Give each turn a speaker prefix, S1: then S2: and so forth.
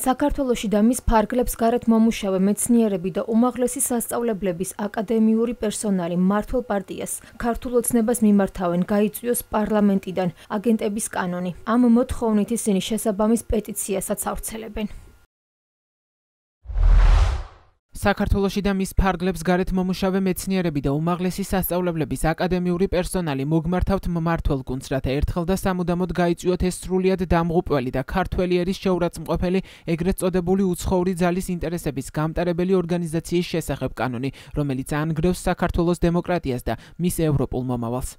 S1: საქართველოში და მის ფარგლებს გარეთ მომუშავე მეცნიერები და უმაღლესი სასწავლებლების აკადემიური პერსონალი მმართველ პარტიას ქართულ ოცნებას მიმართავენ გაიწვიოს პარლამენტიდან აგენტების კანონი. ამ მოთხოვნით ისინი შესაბამის პეტიციასაც ავრცელებენ.
S2: საქართველოში და მის ფარგლებს გარეთ მომუშავე მეცნიერები და უმაღლესი სასწავლებლების აკადემიური პერსონალი მოგმართავთ მმართველ გუნდს, რათა ერთხელ და სამუდამოდ გაიწვიოთ ეს სრულიად დამღუპველი და ქართველი ერის შეურაცხმყოფელი ეგრეთ წოდებული უცხოური ძალის ინტერესების გამტარებელი ორგანიზაციის შესახებ კანონი, რომელიც ანგრევს საქართველოს დემოკრატიას და მის ევროპულ მომავალს.